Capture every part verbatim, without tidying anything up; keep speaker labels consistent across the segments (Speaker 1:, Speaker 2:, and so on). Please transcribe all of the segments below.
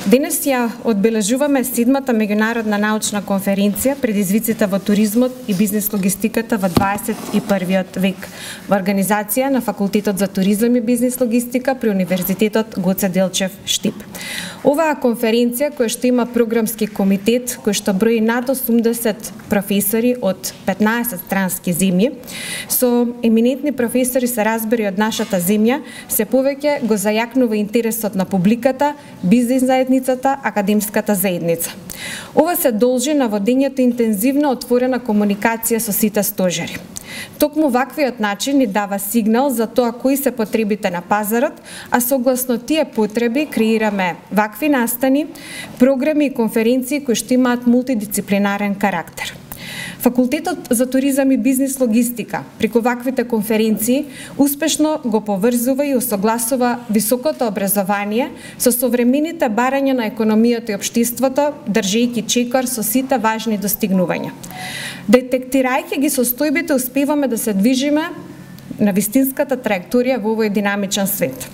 Speaker 1: Денес ја одбележуваме седмата меѓународна научна конференција Предизвиците во туризмот и бизнис логистиката во дваесет и првиот век во организација на Факултетот за туризам и бизнис логистика при Универзитетот Гоце Делчев Штип. Оваа конференција, која што има програмски комитет, кој што брои над осумдесет професори од петнаесет странски земји, со еминентни професори се разбери од нашата земја, се повеќе го зајакнува интересот на публиката, бизнис заедницата, академската заедница. Ова се должи на водењето интензивна отворена комуникација со сите стожери. Токму ваквиот начин ни дава сигнал за тоа кои се потребите на пазарот, а согласно тие потреби креираме вакви настани, програми и конференции кои што имаат мултидисциплинарен карактер. Факултетот за туризам и бизнис логистика преку ваквите конференции успешно го поврзува и усогласува високото образование со современите барања на економијата и општеството, држејќи чекор со сите важни достигнувања. Детектирајќи ги состојбите, успеваме да се движиме на вистинската траекторија во овој динамичен свет.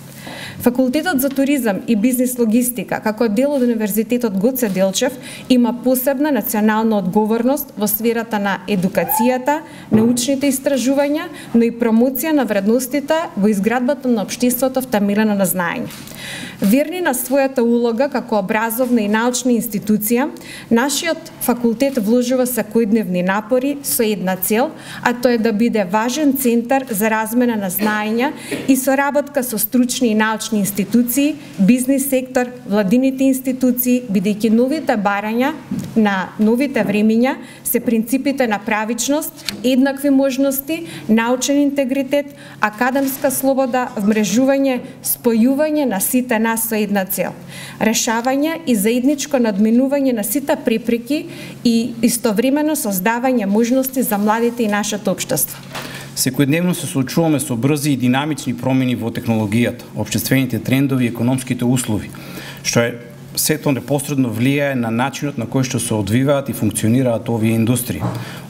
Speaker 1: Факултетот за туризам и бизнис логистика, како дел од Универзитетот Гоце Делчев, има посебна национална одговорност во сферата на едукацијата, научните истражувања, но и промоција на вредностите во изградбата на општеството втемелено на знаење. Верни на својата улога како образовна и научна институција, нашиот факултет вложува секојдневни напори со една цел, а тоа е да биде важен центар за размена на знаења и соработка со стручни и научни институции, бизнис сектор, владините институции, бидејќи новите барања на новите времиња се принципите на правичност, еднакви можности, научен интегритет, академска слобода, вмрежување, спојување на сите нас со една цел. Решавање и заедничко надминување на сите препреки и истовремено создавање можности за младите и нашето општество.
Speaker 2: Секојдневно се соочуваме со брзи и динамични промени во технологијата, општествените трендови и економските услови, што е сето непосредно влијае на начинот на кој што се одвиваат и функционираат овие индустрии.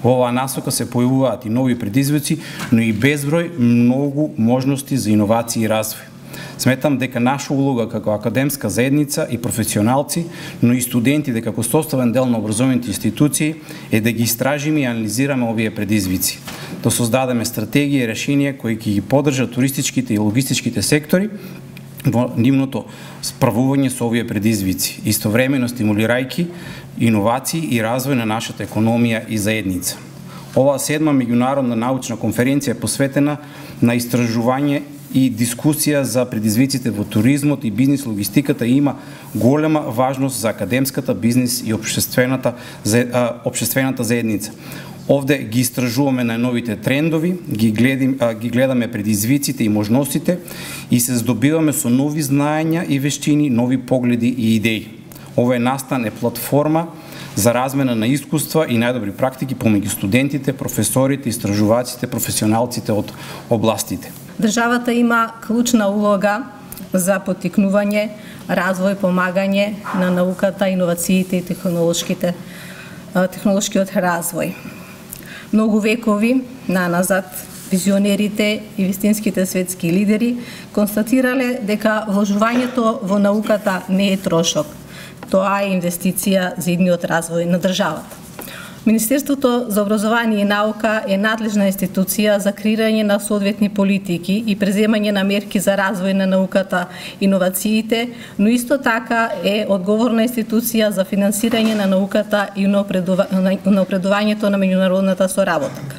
Speaker 2: Во оваа насока се појавуваат и нови предизвици, но и безброј многу можности за иновации и развој. Сметам дека наша улога како академска заедница и професионалци, но и студентите како составен дел на образовните институции е да ги истражиме и анализираме овие предизвици, да создадеме стратегии и решенија кои ќе ги поддржат туристичките и логистичките сектори во нивното справување со овие предизвици, истовремено стимулирајќи иновации и развој на нашата економија и заедница. Оваа седма меѓународна научна конференција е посветена на истражување и дискусија за предизвиците во туризмот и бизнис логистиката и има голема важност за академската, бизнис и општествената, општествената заедница. Овде ги истражуваме на новите трендови, ги, гледим, ги гледаме предизвиците и можностите и се здобиваме со нови знаења и вештини, нови погледи и идеи. Овој настан е платформа за размена на искуства и најдобри практики помеѓу студентите, професорите, истражуваците, професионалците од областите.
Speaker 3: Државата има клучна улога за поттикнување, развој, помагање на науката, иновациите и технолошките, технолошкиот развој. Многу векови наназад визионерите и вистинските светски лидери констатирале дека вложувањето во науката не е трошок, тоа е инвестиција за идниот развој на државата. Министерството за образование и наука е надлежна институција за креирање на соодветни политики и преземање на мерки за развој на науката и иновациите, но исто така е одговорна институција за финансирање на науката и напредувањето на меѓународната соработка.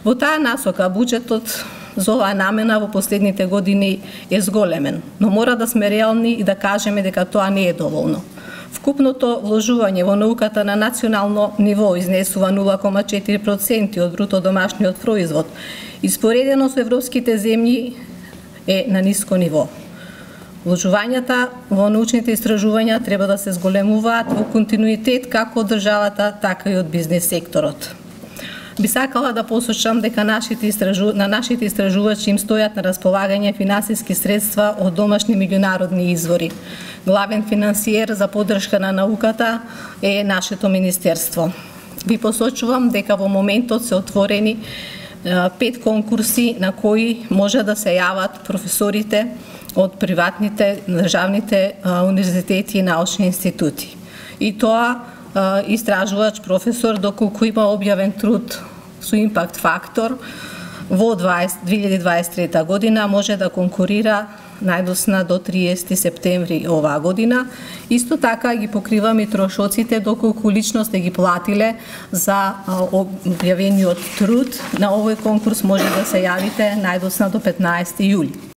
Speaker 3: Во таа насока буџетот за оваа намена во последните години е зголемен, но мора да сме реални и да кажеме дека тоа не е доволно. Вкупното вложување во науката на национално ниво изнесува нула кoma четири проценти од бруто домашниот производ и споредено со европските земји е на ниско ниво. Вложувањата во научните истражувања треба да се зголемуваат во континуитет како од државата, така и од бизнес секторот. Би сакала да посочам дека нашите истражу... на нашите истражувачи им стојат на располагање финансиски средства од домашни меѓународни извори. Главен финансиер за поддршка на науката е нашето министерство. Ви посочувам дека во моментот се отворени пет конкурси на кои може да се јават професорите од приватните, државните универзитети и научни институти. И тоа истражувач професор доколку има објавен труд со импакт фактор во две илјади дваесет и трета година може да конкурира најдосна до триесети септември оваа година. Исто така ги покриваме и трошоците доколку лично сте ги платиле за објавениот труд. На овој конкурс може да се јавите најдосна до петнаесети јули.